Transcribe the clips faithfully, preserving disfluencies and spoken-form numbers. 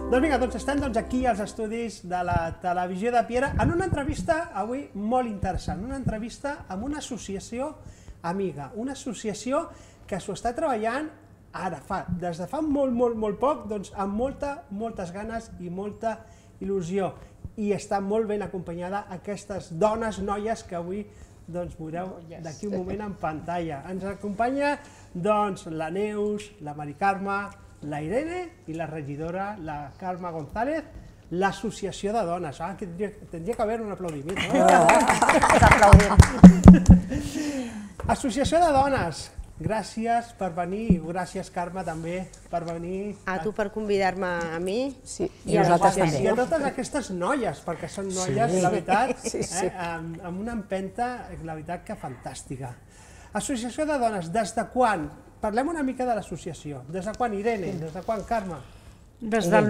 Doncs vinga, doncs estem aquí als estudis de la televisió de Piera en una entrevista avui molt interessant, una entrevista amb una associació amiga, una associació que s'ho està treballant ara, fa, des de fa molt, molt, molt poc, doncs amb molta, moltes ganes i molta il·lusió. I està molt ben acompanyada aquestes dones, noies, que avui doncs veureu d'aquí un moment en pantalla. Ens acompanya doncs la Neus, la Mari Carme, la Irene i la regidora, la Carme González, l'associació de dones. Ah, que tindria, tindria que haver un aplaudiment, no? Associació de dones, gràcies per venir, i gràcies, Carme, també per venir. A tu per convidar-me a mi. Sí, i a nosaltres també. I a totes aquestes noies, perquè són noies, la veritat, amb una empenta, la veritat, que fantàstica. Associació de dones, des de quan? Parlem una mica de l'associació. Des de quan, Irene? Des de quan, Carme? Des del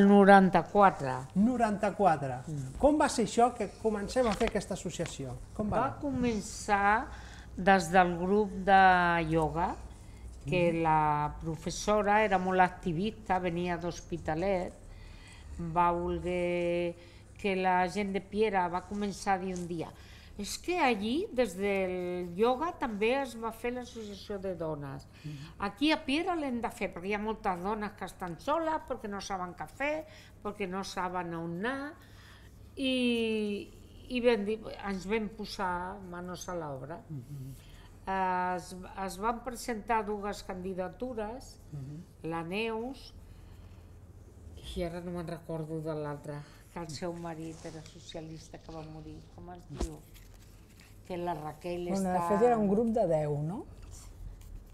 noranta-quatre. noranta-quatre. Com va ser això que comencem a fer aquesta associació? Va començar des del grup de ioga, que la professora era molt activista, venia d'Hospitalet, va voler que la gent de Piera va començar a dir un dia és que allí, des del ioga, també es va fer l'associació de dones. Aquí a Piera l'hem de fer, perquè hi ha moltes dones que estan soles, perquè no saben què fer, perquè no saben on anar, i ens vam posar manos a l'obra. Es van presentar dues candidatures, la Neus, i ara no me'n recordo de l'altra, que el seu marit era socialista, que va morir, com es diu? Que la Raquel està... De fet era un grup de deu, no?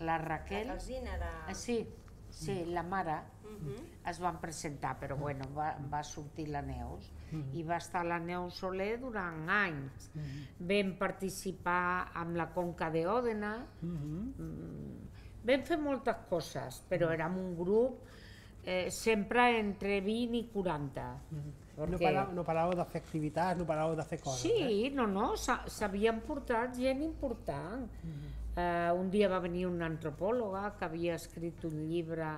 La Raquel... La Rosina era... Sí, sí, la mare es van presentar, però bueno, va sortir la Neus i va estar la Neus Soler durant anys. Vam participar amb la Conca d'Òdena, vam fer moltes coses, però érem un grup sempre entre vint i quaranta. No paràveu de fer activitats, no paràveu de fer coses. Sí, no, no, s'havien portat gent important. Un dia va venir una antropòloga que havia escrit un llibre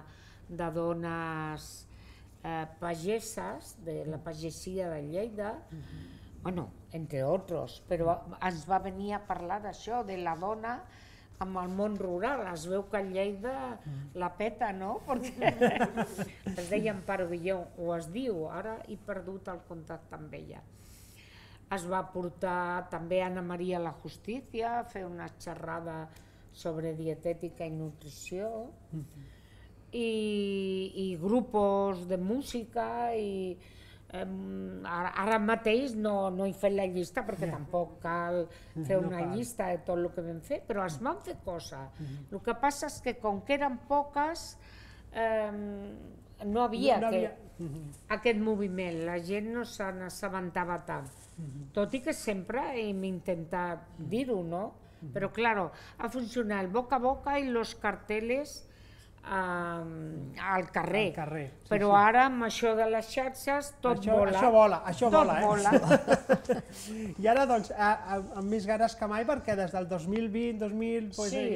de dones pageses, de la pagesia de Lleida, bueno, entre altres, però ens va venir a parlar d'això, de la dona amb el món rural. Es veu que a Lleida la peta, no? Perquè es deia Amparo Villó, o es diu, ara he perdut el contacte amb ella. Es va portar també Ana Maria La Justícia a fer una xerrada sobre dietètica i nutrició, i grupos de música, i ara mateix no he fet la llista perquè tampoc cal fer una llista de tot el que vam fer, però es van fer coses. El que passa és que com que eren poques no havia aquest moviment, la gent no se n'assabentava tant, tot i que sempre hem intentat dir-ho, no? Però clar, ha funcionat el boca a boca i els cartells al carrer, però ara amb això de les xarxes tot vola. Això vola, això vola. I ara doncs amb més ganes que mai, perquè des del dos mil vint dos mil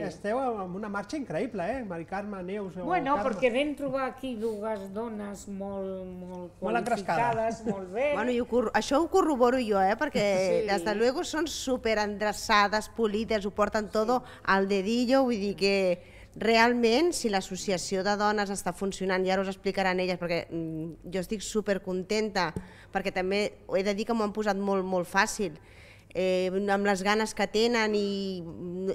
esteu amb una marxa increïble, eh? Mari Carme, Neus... Bueno, perquè vam trobar aquí dues dones molt qualificades, molt bé. Això ho corroboro jo, perquè des de luego són superendreçades, polides, ho porten tot al dedillo, vull dir que realment, si l'associació de dones està funcionant, i ara us explicaran elles, perquè jo estic supercontenta, perquè també he de dir que m'ho han posat molt fàcil, amb les ganes que tenen, i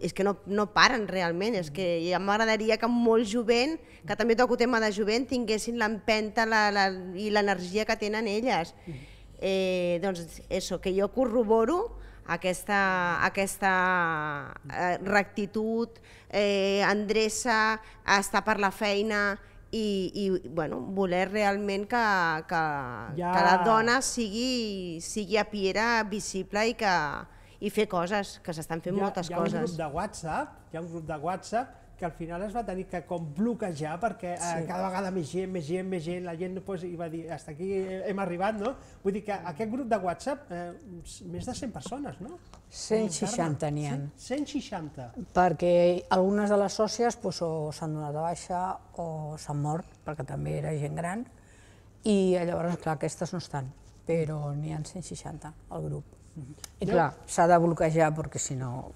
és que no paren realment, és que ja m'agradaria que molt jovent, que també toco tema de jovent, tinguessin l'empenta i l'energia que tenen elles. Doncs això, que jo corroboro aquesta rectitud, endreça, estar per la feina i voler realment que la dona sigui a Piera visible i fer coses, que s'estan fent moltes coses. Hi ha un grup de WhatsApp, hi ha un grup de WhatsApp que al final es va tenir que com bloquejar perquè cada vegada més gent, més gent, més gent, la gent va dir, hasta aquí hem arribat, no? Vull dir que aquest grup de WhatsApp, més de cent persones, no? cent seixanta n'hi ha. cent seixanta. Perquè algunes de les sòcies o s'han donat de baixa o s'han mort, perquè també era gent gran, I llavors, clar, aquestes no estan, però n'hi ha cent seixanta al grup. I clar, s'ha de bloquejar perquè si no,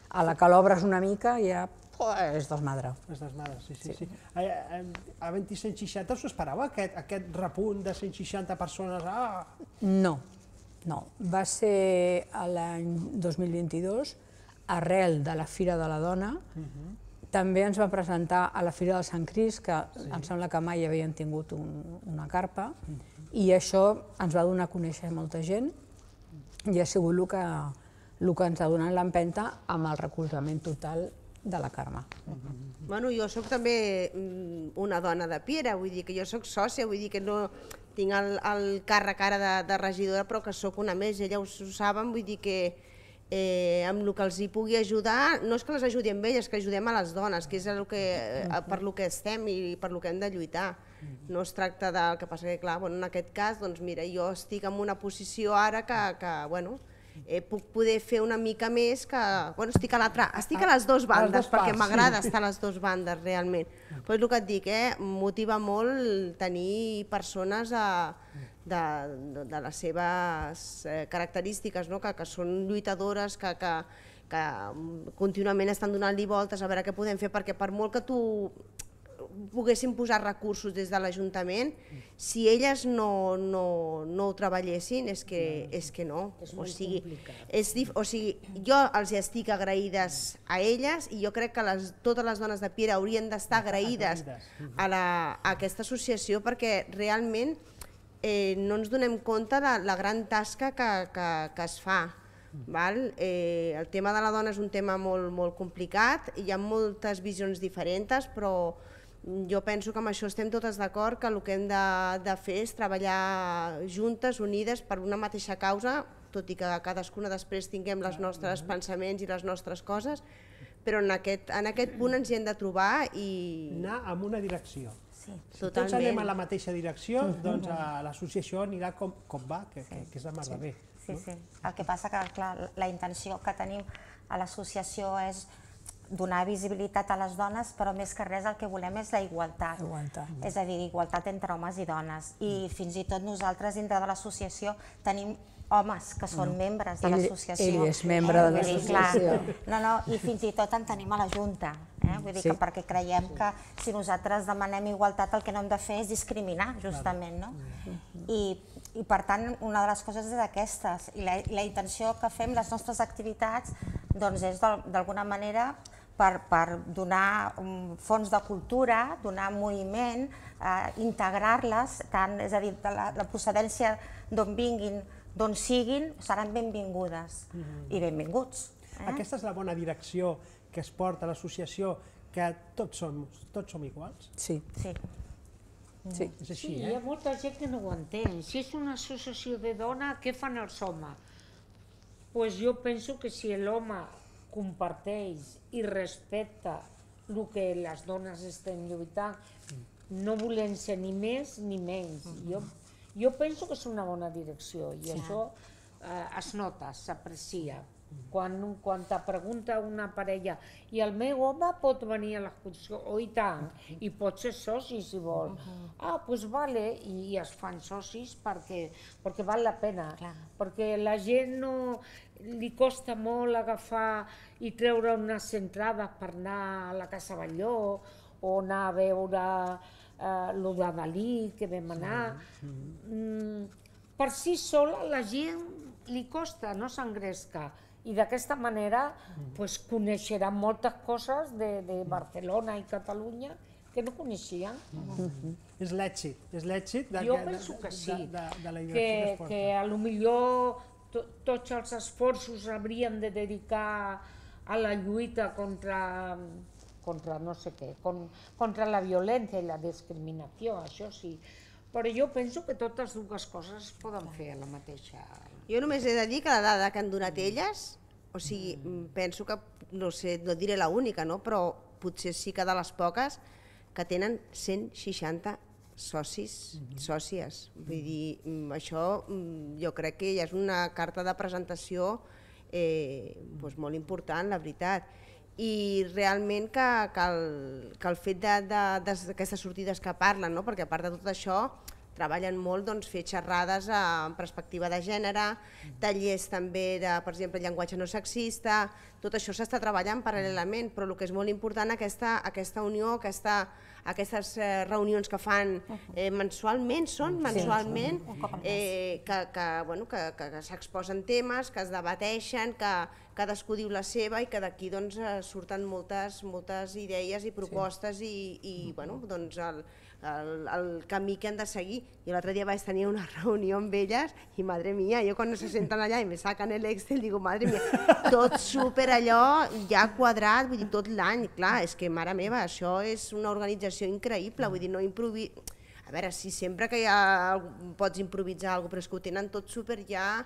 a la que l'obres una mica ja es desmadra. Es desmadra, sí, sí. sí. A, a, a cent seixanta us esperava aquest, aquest repunt de cent seixanta persones? Ah! No, no. Va ser l'any dos mil vint-i-dos, arrel de la Fira de la Dona. També ens va presentar a la Fira del Sant Crist, que em sembla que mai havien tingut una carpa, i això ens va donar a conèixer molta gent i ha sigut el que, el que ens ha donat l'empenta amb el recolzament total de la Carme. Bueno, jo sóc també una dona de Piera, vull dir que jo sóc sòcia, vull dir que no tinc el, el càrrec ara de, de regidora, però que sóc una més, ella ho saben, vull dir que eh, amb el que els hi pugui ajudar, no és que les ajudi amb elles, que ajudem a les dones, que és el que, per lo que estem i per lo que hem de lluitar. No es tracta del que passa que, clar, bueno, en aquest cas, doncs mira, jo estic en una posició ara que, que bueno, eh, puc poder fer una mica més que... Bueno, estic a l'altra, estic a les dues bandes, perquè m'agrada estar a les dues bandes, realment. Però és el que et dic, eh, motiva molt tenir persones a, de, de, de les seves eh, característiques, no? que, que són lluitadores, que, que, que contínuament estan donant-li voltes a veure què podem fer, perquè per molt que tu poguessin posar recursos des de l'Ajuntament, si elles no, no, no ho treballessin, és que, és que no. O sigui, és, o sigui, jo els estic agraïdes a elles i jo crec que les, totes les dones de Piera haurien d'estar agraïdes a, la, a aquesta associació perquè realment eh, no ens donem compte de la gran tasca que, que, que es fa. Val? Eh, el tema de la dona és un tema molt, molt complicat, hi ha moltes visions diferents, però jo penso que amb això estem totes d'acord que el que hem de, de fer és treballar juntes, unides, per una mateixa causa, tot i que cadascuna després tinguem els nostres pensaments i les nostres coses, però en aquest, en aquest punt ens hi hem de trobar i... Anar en una direcció. Sí, si tots anem a la mateixa direcció, doncs l'associació anirà com, com va, que, que, que és de mar de bé. Sí, sí. El que passa que clar, la intenció que tenim a l'associació és donar visibilitat a les dones, però més que res el que volem és la igualtat. És a dir, igualtat entre homes i dones. I fins i tot nosaltres dintre de l'associació tenim homes que són membres de l'associació. Ell és membre de l'associació. No, no, i fins i tot en tenim a la Junta. Vull dir que perquè creiem que si nosaltres demanem igualtat el que no hem de fer és discriminar, justament. I per tant, una de les coses és aquestes. I la intenció que fem les nostres activitats és d'alguna manera per donar fons de cultura, donar moviment, integrar-les, és a dir, la procedència d'on vinguin, d'on siguin, seran benvingudes i benvinguts. Aquesta és la bona direcció que es porta a l'associació, que tots som iguals? Sí. Sí, és així, eh? Hi ha molta gent que no ho entén. Si és una associació de dones, què fan els homes? Doncs jo penso que si l'home comparteix i respecta el que les dones estem lluitant, no volem ser ni més ni menys. Jo penso que és una bona direcció i això es nota, s'aprecia. Quan te pregunta una parella i el meu home pot venir a l'exposició, oh i tant, i pot ser soci si vol. Ah, doncs vale, i es fan socis perquè val la pena, perquè la gent no li costa molt agafar i treure unes entrades per anar a la Casa Batlló o anar a veure el de Dalí que vam anar. Per si sola la gent li costa, no s'engresca. I d'aquesta manera coneixeran moltes coses de Barcelona i Catalunya que no coneixien. És l'èxit, és l'èxit de la direcció que es porta. Que potser tots els esforços s'haurien de dedicar a la lluita contra no sé què, contra la violència i la discriminació, això sí. Però jo penso que totes dues coses es poden fer a la mateixa... Jo només he de dir que la dada que han donat elles, o sigui, penso que, no sé, no diré l'única, però potser sí que de les poques que tenen cent seixanta socis, sòcies. Vull dir, això jo crec que ja és una carta de presentació molt important, la veritat. I realment que el fet d'aquestes sortides que parlen, perquè a part de tot això, treballen molt doncs, fer xerrades en perspectiva de gènere, tallers també de, per exemple, llenguatge no sexista, tot això s'està treballant paral·lelament, però el que és molt important aquesta, aquesta unió, aquesta, aquestes eh, reunions que fan eh, mensualment, són mensualment, eh, que, que, bueno, que, que, que s'exposen temes, que es debateixen, que cadascú diu la seva i que d'aquí doncs, surten moltes, moltes idees i propostes sí. i, i bueno, doncs el, el, el camí que han de seguir. Jo l'altre dia vaig tenir una reunió amb elles i, madre mía, jo quan se senten allà i me sacan el Excel, digo, madre mía, tot super allò ja quadrat, vull dir, tot l'any. Clar, és que, mare meva, això és una organització increïble, vull dir, no improvi... A veure, sí, sempre que ja pots improvisar alguna cosa, però és que ho tenen tot super ja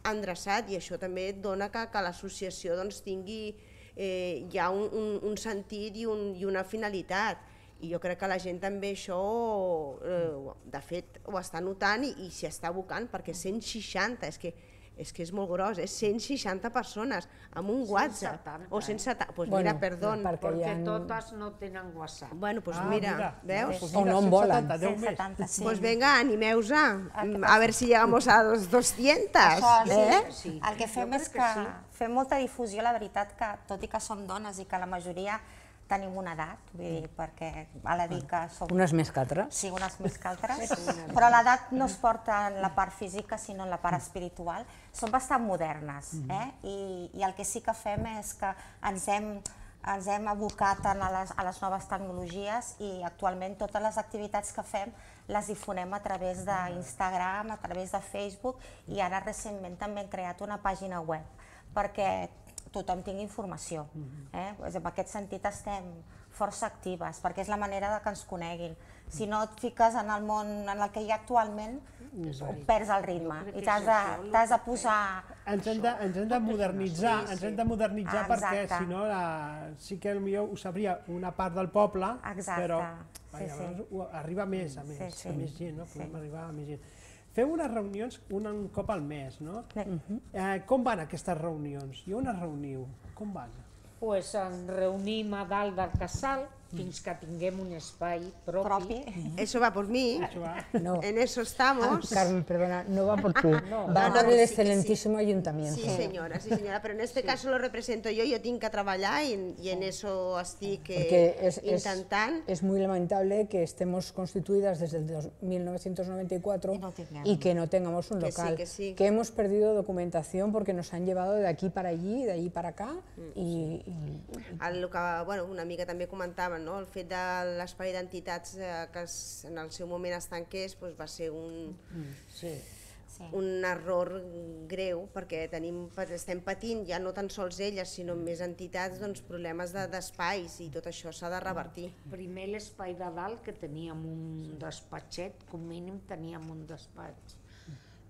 endreçat i això també et dona que, que l'associació doncs, tingui eh, ja un, un, un sentit i, un, i una finalitat. I jo crec que la gent també això, eh, de fet, ho està notant i, i s'hi està abocant, perquè cent seixanta, és que és que és molt gros, és cent seixanta persones amb un WhatsApp. O cent setanta, doncs mira, perdó. Perquè totes no tenen WhatsApp. Bueno, doncs mira, veus? O no en volen. cent setanta, sí. Doncs vinga, animeu-se, a veure si llegamos a los doscientos. Això, el que fem és que fem molta difusió, la veritat que, tot i que som dones i que la majoria tenim una edat, vull dir, perquè val a dir que som... Unes més que altres. Sí, unes més que altres, però l'edat no es porta en la part física, sinó en la part espiritual. Són bastant modernes, eh? I, i el que sí que fem és que ens hem, ens hem abocat a les, a les noves tecnologies i actualment totes les activitats que fem les difonem a través d'Instagram, a través de Facebook i ara recentment també hem creat una pàgina web perquè tothom tingui informació. Eh? En aquest sentit estem força actives, perquè és la manera de que ens coneguin. Si no et fiques en el món en el que hi ha actualment, perds el ritme i t'has de, t'has de posar... Ens hem de, ens hem de modernitzar, Sí, sí. ens hem de modernitzar perquè Exacte. si no la, sí que potser ho sabria una part del poble, Exacte. però Sí, vaja, sí. llavors ho- arriba més a més, Sí, sí. a més gent, no? Podem Sí. arribar a més gent. Feu unes reunions un, un cop al mes, no? Sí. Eh, com van aquestes reunions? I on es reuniu? Com van? Pues ens reunim a dalt del casal fins que tinguem un espai propi. propi. Eso va por mí, Això va. No. en eso estamos. Ah, Carmen, perdona, no va por ti, No. va No, por no, el sí que excelentísimo ayuntamiento. Sí, señora, sí, señora, pero en este caso lo represento yo, yo tengo que trabajar y, en- y en eso estic Porque eh, es, es, intentant. es muy lamentable que estemos constituidas desde el dos- mil novecientos noventa y cuatro Y no tengamos. y que no tengamos un Que sí, local, que sí. hemos perdido documentación porque nos han llevado de aquí para allí, de allí para acá y, y- El que, bueno, una mica també comentaven, no? El fet de l'espai d'entitats eh, que es, en el seu moment es tanqués doncs va ser un, Sí. Sí. un error greu perquè tenim, estem patint ja no tan sols elles sinó més entitats doncs, problemes de- d'espais i tot això s'ha de revertir. Primer l'espai de dalt, que teníem un despatxet, com mínim teníem un despatx.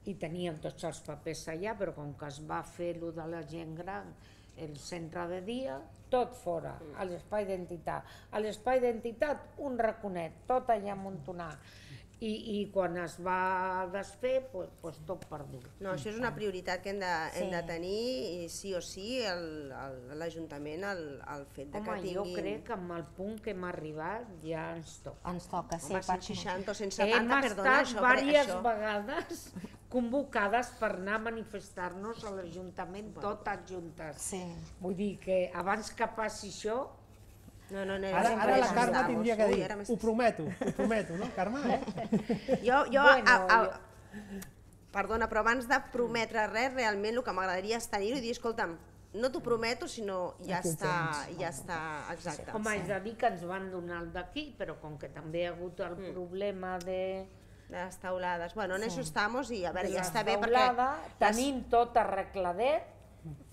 I teníem tots els papers allà, però com que es va fer lo de la gent gran, el centre de dia, tot fora, a l'espai d'entitat. A l'espai d'entitat, un raconet, tot allà amuntonat. I, i quan es va desfer, pues, pues tot perdut. No, això és una prioritat que hem de, hem de Sí. tenir i sí o sí el- el- l'Ajuntament el, el fet de Home, que jo tinguin... crec que amb el punt que hem arribat ja ens toca. Ens toca, sí. Home, cent perquè- seixanta o cent Hem setanta, perdona, estat això, per- diverses això. vegades convocades per anar a manifestar-nos a l'Ajuntament totes juntes. Sí. Vull dir que abans que passi això, No, no, no, Ara, sempre ara la ens Carme damos. tindria que Ui, dir, ara m'estàs- ho prometo, ho prometo, no, Carme? Eh? Jo, jo, Bueno, a, a, perdona, però abans de prometre res, realment el que m'agradaria és tenir-ho i dir, escolta'm, no t'ho prometo, sinó ja Aquí ho està, tens. ja està, exacte. home, és a dir que ens van donar el d'aquí, però com que també hi ha hagut el problema de Les taulades. Bueno, en eso estamos i a veure, ja la està bé teulada, perquè tenim tot arregladet,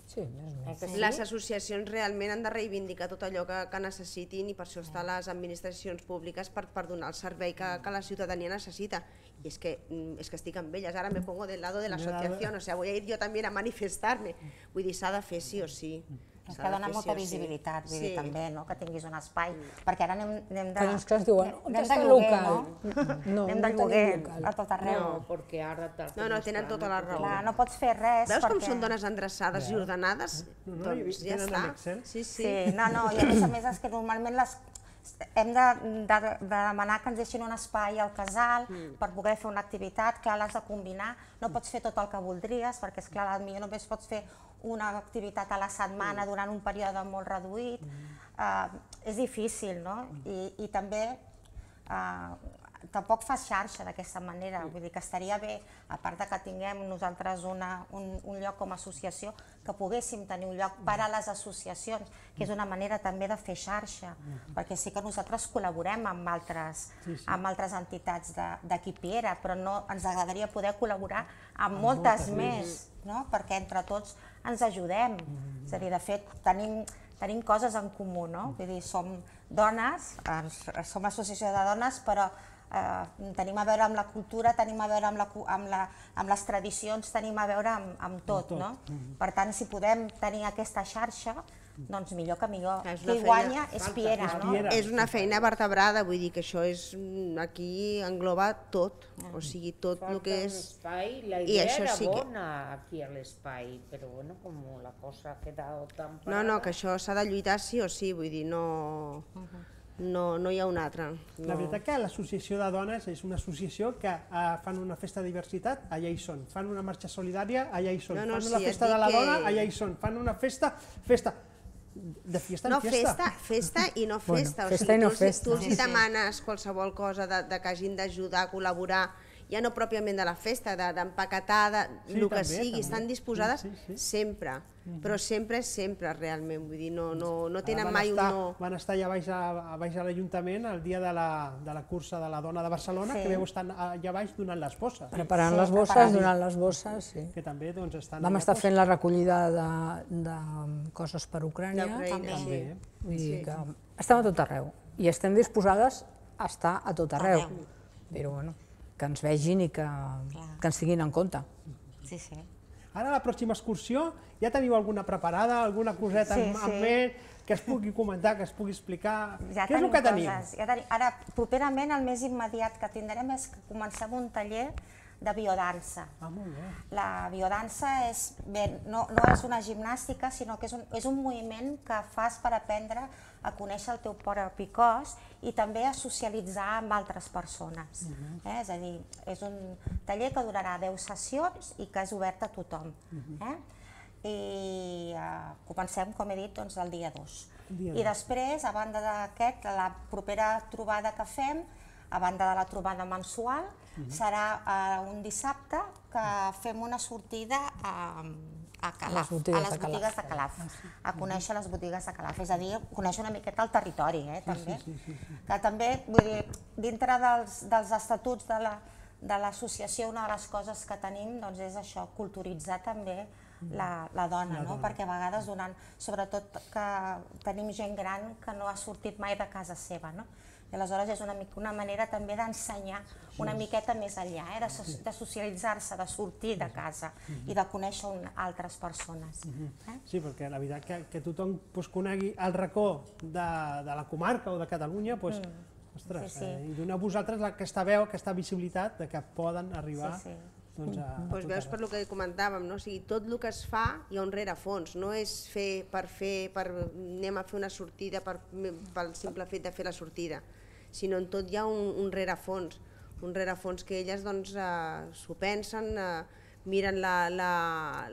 sí, més o eh, menys. que les, sí? les associacions realment han de reivindicar tot allò que, que necessitin i per això estan les administracions públiques per, per donar el servei que, que la ciutadania necessita. I és que, mm, és que estic amb elles, ara me pongo del lado de la asociación, o sea, voy a ir yo también a manifestarme. Vull dir, s'ha de fer sí o sí. És S'ha que de dona fer molta sí o sí. visibilitat, vull dir, Sí. també, no? Que tinguis un espai, perquè ara anem, anem de... Però és que es diuen, on anem està de el lloguer, local? no? No, anem no de lloguer tenim local. a tot arreu. No, perquè ara tal No, com no, tenen està, tota la raó. Clar, no pots fer res Veus com perquè... són dones endreçades i ordenades? No, no, Doncs i ja tenen està. en Excel. Sí, sí. Sí, no, no, i a més a més és que normalment les, hem de, de, de demanar que ens deixin un espai al casal mm. per poder fer una activitat, clar, l'has de combinar, no pots fer tot el que voldries, perquè és clar, potser només pots fer una activitat a la setmana mm. durant un període molt reduït, mm. uh, és difícil, no? I, i també uh, tampoc fas xarxa d'aquesta manera, vull dir que estaria bé, a part de que tinguem nosaltres una, un, un lloc com a associació, que poguéssim tenir un lloc per a les associacions, que és una manera també de fer xarxa, perquè sí que nosaltres col·laborem amb altres, sí, sí. amb altres entitats d'aquí Piera, però no, ens agradaria poder col·laborar amb, amb moltes, moltes més, no? Perquè entre tots ens ajudem, mm. és a dir, de fet tenim, tenim coses en comú, no? Vull dir, som dones, som associació de dones, però Uh, tenim a veure amb la cultura, tenim a veure amb, la, amb, la, amb les tradicions, tenim a veure amb, amb tot, no? Mm-hmm. Per tant, si podem tenir aquesta xarxa, doncs millor que millor. Qui feina, guanya és Piera, és no? Piera. És una feina vertebrada, vull dir que això és, aquí engloba tot, mm. o sigui, tot el que és... Espai, la idea era sí bona que... aquí a l'espai, però bueno, com la cosa ha quedat tan parada... No, no, que això s'ha de lluitar sí o sí, vull dir, no... Uh-huh. No, no hi ha un altre. No. La veritat que l'associació de dones és una associació que uh, fan una festa de diversitat, allà hi són. Fan una marxa solidària, allà hi són. No, no, fan sí, una festa de la que... dona, allà hi són. Fan una festa, festa, de fiesta en no, fiesta. Festa, festa i no festa. Bueno, o festa sigui, i no tu, festa. Tu els sí, demanes qualsevol cosa de, de que hagin d'ajudar, col·laborar, ja no pròpiament de la festa, d'empaquetar, de, de, sí, el que també, sigui, també. Estan disposades sí, sí, sí. sempre, mm-hmm. però sempre és sempre realment, vull dir, no, no, no tenen mai estar, un no... Van estar allà baix a, a, baix a l'Ajuntament el dia de la, de la cursa de la dona de Barcelona, sí. que veu estar allà baix donant les bosses. Preparant sí, les bosses, preparant. donant les bosses, sí. Que també doncs, estan Vam estar fent la recollida de, de coses per Ucrània. També. també. Vull dir que estem a tot arreu i estem disposades a estar a tot arreu. Però bueno, que ens vegin i que, que ens tinguin en compte. Sí, sí. Ara la pròxima excursió, ja teniu alguna preparada, alguna coseta sí, en, sí. en ment, que es pugui comentar, que es pugui explicar? Ja Què és el que tenim? Coses, ja tenim? Ara, properament, el més immediat que tindrem és que comencem un taller de biodansa. Ah, molt bé. La biodansa és, bé, no, no és una gimnàstica, sinó que és un, és un moviment que fas per aprendre a conèixer el teu propi cos i també a socialitzar amb altres persones. Uh-huh. eh? És a dir, és un taller que durarà deu sessions i que és obert a tothom. Uh-huh. eh? I uh, comencem, com he dit, doncs, el dia dos. Dia I després, a banda d'aquest, la propera trobada que fem, a banda de la trobada mensual, uh-huh. serà uh, un dissabte que fem una sortida a, a Calaf, a les botigues de Calaf, a conèixer les botigues de Calaf, és a dir, conèixer una miqueta el territori, eh, també. Sí, sí, sí, sí. Que també, vull dir, dintre dels, dels estatuts de la, de l'associació, una de les coses que tenim doncs, és això, culturitzar també la, la dona, la no? dona. Perquè a vegades donant, sobretot que tenim gent gran que no ha sortit mai de casa seva, no? I aleshores és una, una manera també d'ensenyar una miqueta més enllà, eh? de, so, de socialitzar-se, de sortir de casa i de conèixer un, altres persones. Eh? Sí, perquè la veritat que, que tothom pues, conegui el racó de, de la comarca o de Catalunya, pues, mm. ostres, sí, sí. Eh? i donar a vosaltres aquesta veu, aquesta visibilitat de que poden arribar sí, sí. Doncs, a, a pues veus per lo que comentàvem, no? O sigui, tot el que es fa hi ha un rerefons, no és fer per fer, per, anem a fer una sortida per, pel simple fet de fer la sortida, sinó en tot hi ha un, un rerefons, un rerefons que elles doncs, eh, s'ho pensen, eh, miren la, la,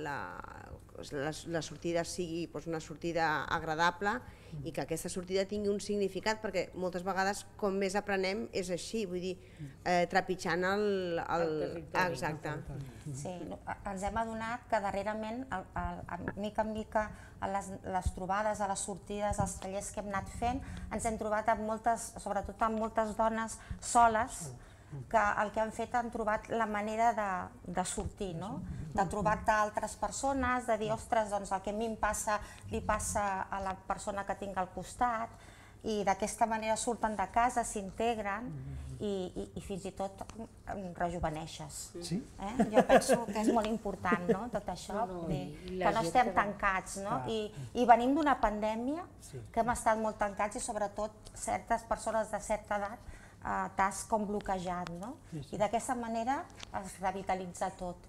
la, la, la sortida sigui doncs, una sortida agradable i que aquesta sortida tingui un significat, perquè moltes vegades com més aprenem és així, vull dir, eh, trepitjant el, el, el territori. Exacte. Sí, ens hem adonat que darrerament, el, el, a mica en mica, a les, les trobades, a les sortides, als tallers que hem anat fent, ens hem trobat amb moltes, sobretot amb moltes dones soles, que el que han fet han trobat la manera de, de sortir, no? De trobar-te altres persones, de dir, ostres, doncs el que a mi em passa li passa a la persona que tinc al costat, i d'aquesta manera surten de casa, s'integren i, i, i fins i tot rejuveneixes. Sí? Eh? Jo penso que és molt important, no? Tot això, no, no, dir, que no estem tancats, no? I, i venim d'una pandèmia sí. que hem estat molt tancats i sobretot certes persones de certa edat Uh, t'has com bloquejat, no? Sí, sí. I d'aquesta manera es revitalitza tot.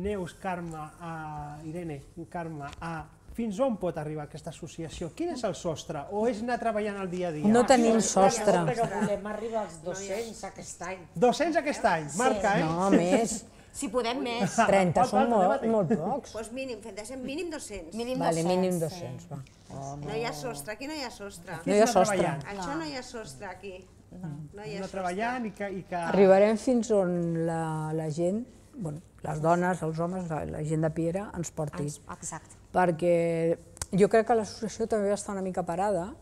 Neus, Carme, uh, Irene, Carme, uh, fins on pot arribar aquesta associació? Quin és el sostre? O és anar treballant el dia a dia? No tenim sostre. Però volem arribar als dos-cents aquest any. dos-cents aquest any, marca, eh? No, més. Si podem més. trenta són molt, molt pocs. Doncs mínim, fem de mínim dos-cents. Mínim Vale, mínim dos-cents. dos-cents, va. No hi ha sostre, aquí no hi ha sostre. No hi ha sostre. treballant. Això no hi ha sostre, aquí. No hi ha Anar sostre. treballant i que... I que... Arribarem fins on la, la gent, bueno, les dones, els homes, la, la gent de Piera ens porti. Exacte. Perquè jo crec que l'associació també va estar una mica parada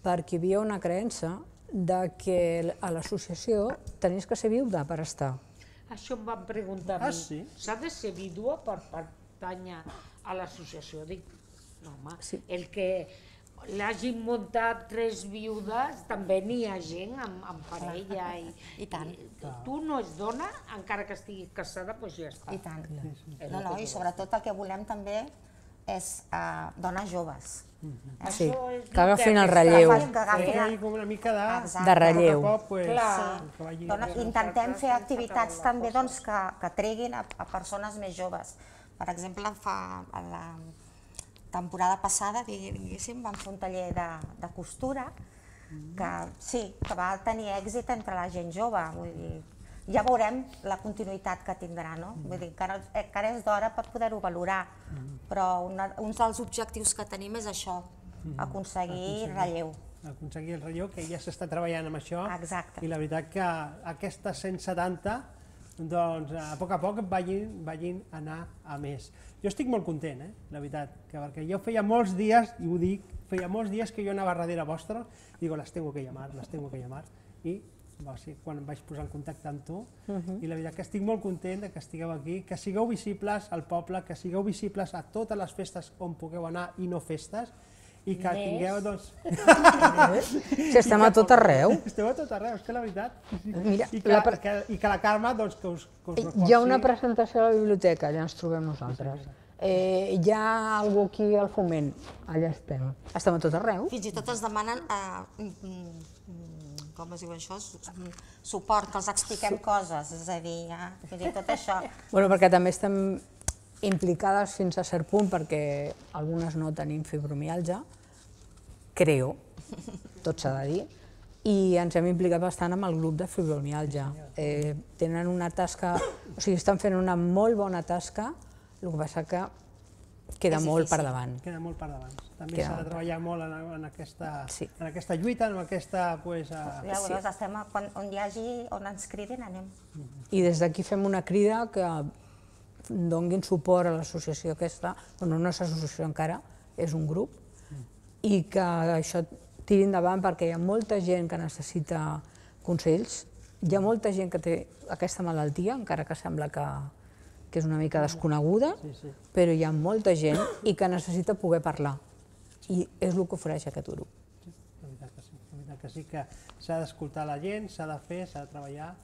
perquè hi havia una creença de que a l'associació tenies que ser viuda per estar. Això em van preguntar a Ah, mi. sí? S'ha de ser vídua per pertànyer a l'associació? Dic, no, home, Sí. el que l'hagin muntat tres viudes, també n'hi ha gent amb, amb parella. I, I tant. I, tu no és dona, encara que estiguis casada, doncs ja està. I tant. No, no, i sobretot el que volem també és uh, dones joves. Eh? Sí, Això és que agafin el que relleu. Que Que agafin hi el- hagi com una mica de... Exacte. De relleu. A poc a poc, pues, Clar. que vagi... Dona, intentem fer activitats també doncs, que, que treguin a, a persones més joves. Per exemple, fa, a la temporada passada, diguéssim, vam fer un taller de, de costura que sí, que va tenir èxit entre la gent jove. Vull dir, ja veurem la continuïtat que tindrà, no? Vull dir, encara, encara és d'hora per poder-ho valorar, però una, un dels objectius que tenim és això, aconseguir relleu. aconseguir el relleu, que ja s'està treballant amb això. Exacte. I la veritat que aquestes cent setanta, doncs a poc a poc vagin, vagin a anar a més. Jo estic molt content, eh, la veritat, que perquè jo feia molts dies, i ho dic, feia molts dies que jo anava darrere vostre, i digo, les tengo que llamar, les tengo que llamar, i va ser quan em vaig posar en contacte amb tu, i la veritat que estic molt content de que estigueu aquí, que sigueu visibles al poble, que sigueu visibles a totes les festes on pugueu anar i no festes, i que Més. tingueu, doncs... Si estem a tot arreu. Esteu a tot arreu, és que la veritat... Mira, I que la la, que, i que la Carme, doncs, que us, que us reforci. Hi ha una presentació a la biblioteca, allà ens trobem nosaltres. Eh, hi ha algú aquí al Foment, allà estem. Estem a tot arreu. Fins i tot es demanen, eh, mm, mm, com es diu això, Su- mm, suport, que els expliquem coses, és a dir, ja, vull dir, tot això. Bueno, perquè també estem implicades fins a cert punt, perquè algunes no tenim fibromialgia, creo, tot s'ha de dir, i ens hem implicat bastant amb el grup de fibromialgia. Eh, tenen una tasca, o sigui, estan fent una molt bona tasca, el que passa que queda És molt difícil. per davant. Queda molt per davant. També Queda s'ha de molt. treballar molt en, en, aquesta, Sí. en aquesta lluita, en aquesta... Pues, a... Ja veuràs, estem a, quan, on hi hagi, on ens cridin, anem. I des d'aquí fem una crida que donguin suport a l'associació aquesta, bueno, no és associació encara, és un grup, i que això tiri endavant perquè hi ha molta gent que necessita consells, hi ha molta gent que té aquesta malaltia, encara que sembla que, que és una mica desconeguda, Sí, sí. però hi ha molta gent i que necessita poder parlar. I és el que ofereix aquest grup. La veritat que sí, la veritat que sí que s'ha d'escoltar la gent, s'ha de fer, s'ha de treballar,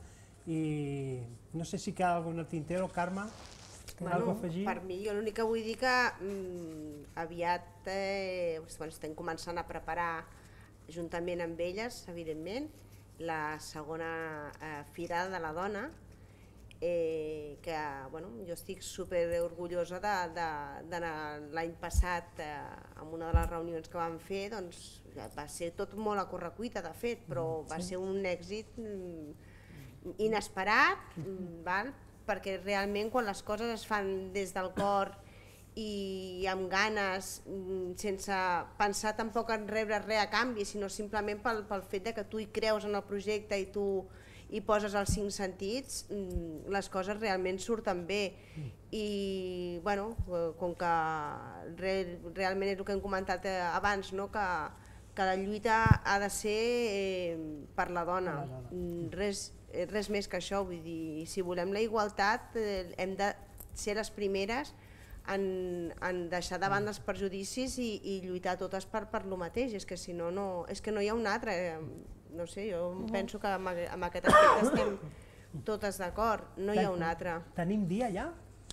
i no sé si queda alguna al tintero, Carme, alguna cosa a afegir? Per mi, jo l'únic que vull dir que mm, aviat eh, bueno, estem començant a preparar, juntament amb elles, evidentment, la segona eh, Fira de la Dona, eh, que bueno, jo estic super orgullosa d'anar l'any passat eh, en una de les reunions que vam fer, doncs va ser tot molt a correcuita, de fet, però va ser un èxit mm, inesperat, mm, val? Perquè realment quan les coses es fan des del cor i amb ganes, mm, sense pensar tampoc en rebre res a canvi, sinó simplement pel, pel fet de que tu hi creus en el projecte i tu hi poses els cinc sentits, mm, les coses realment surten bé. I bueno, eh, com que re, realment és el que hem comentat eh, abans, no? que, que la lluita ha de ser eh, per la dona, Mm, res, eh, res més que això, vull dir, si volem la igualtat eh, hem de ser les primeres en, en deixar de banda els perjudicis i, i lluitar totes per, per lo mateix, és que si no, no, és que no hi ha un altre, eh, no sé, jo penso que amb, amb aquest aspecte estem totes d'acord, no hi ha un altre. Tenim dia ja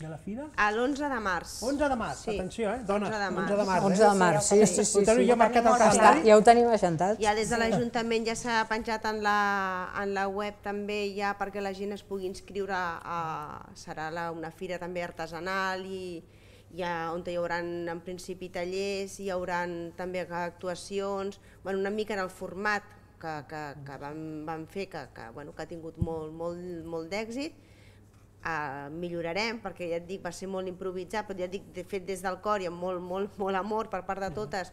de la fira? A l'onze de març. onze de març, Sí. atenció, eh, dones, onze de març. onze de març. onze de març, sí, sí, sí. Ho teniu sí. ja marcat al Ho tenim molt calendari? Ja ho tenim agentat. Ja des de l'Ajuntament ja s'ha penjat en la, en la web també ja perquè la gent es pugui inscriure, a, serà la, una fira també artesanal i, on hi haurà en principi tallers, hi haurà també actuacions, una mica en el format que vam fer, que ha tingut molt d'èxit. Millorarem, perquè ja et dic, va ser molt improvisat, però ja et dic, fet des del cor i amb molt amor per part de totes,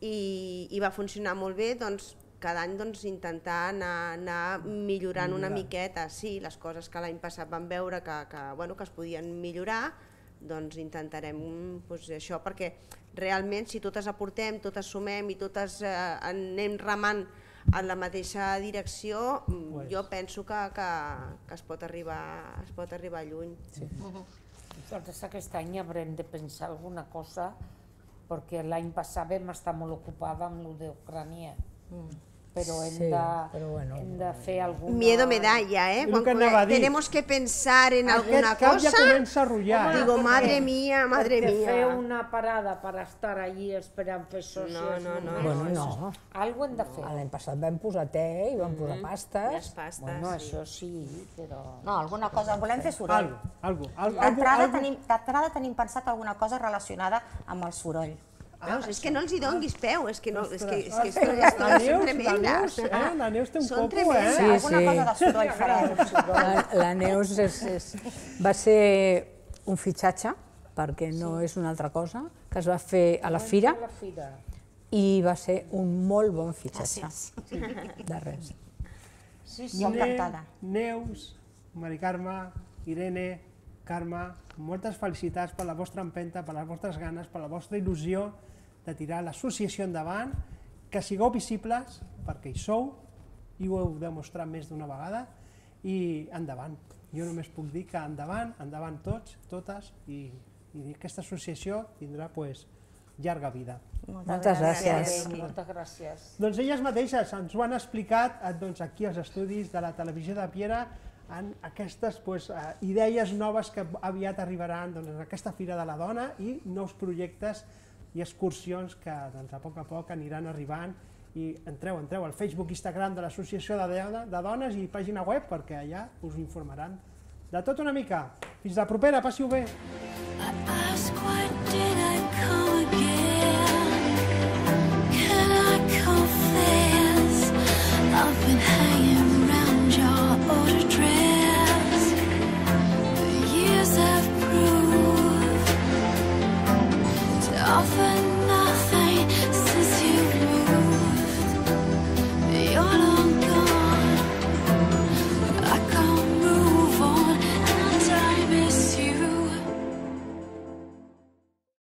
i va funcionar molt bé. Doncs cada any intentar anar millorant una miqueta, sí, les coses que l'any passat vam veure que es podien millorar, doncs intentarem això, perquè realment si totes aportem, totes sumem i totes anem remant en la mateixa direcció, jo penso que es pot arribar lluny. Nosaltres aquest any haurem de pensar alguna cosa, perquè l'any passat vam estar molt ocupada amb el d'Ucrània, però hem de fer alguna... Miedo me da ya, ¿eh? Tenemos que pensar en alguna cosa. Aquest cap ja comença a rotllar. Digo, madre mía, madre mía. Perquè fer una parada per estar allí esperant fer socis... No, no, no. Bueno, no. Algo hem de fer. L'any passat vam posar te i vam posar pastes. Bueno, això sí, però... No, alguna cosa, volem fer soroll. Algo, algo. D'entrada tenim pensat alguna cosa relacionada amb el soroll. És que no els hi donguis peu, és que són tremendes. La Neus té un copo, eh? Alguna cosa de soroll farem. La Neus va ser un fitxatge, perquè no és una altra cosa, que es va fer a la fira i va ser un molt bon fitxatge. De res. Jo encantada. Neus, Mari Carme, Irene, Carme, moltes felicitats per la vostra empenta, per les vostres ganes, per la vostra il·lusió de tirar l'associació endavant, que sigueu visibles, perquè hi sou, i ho heu demostrat més d'una vegada, i endavant. Jo només puc dir que endavant, endavant tots, totes, i aquesta associació tindrà llarga vida. Moltes gràcies. Moltes gràcies. Doncs elles mateixes ens ho han explicat aquí als estudis de la televisió de Piera, en aquestes idees noves que aviat arribaran en aquesta Fira de la Dona i nous projectes i excursions que a poc a poc aniran arribant. I entreu, entreu al Facebook i Instagram de l'Associació de Dones i pàgina web, perquè allà us informaran de tot una mica. Fins la propera, passi-ho bé! Often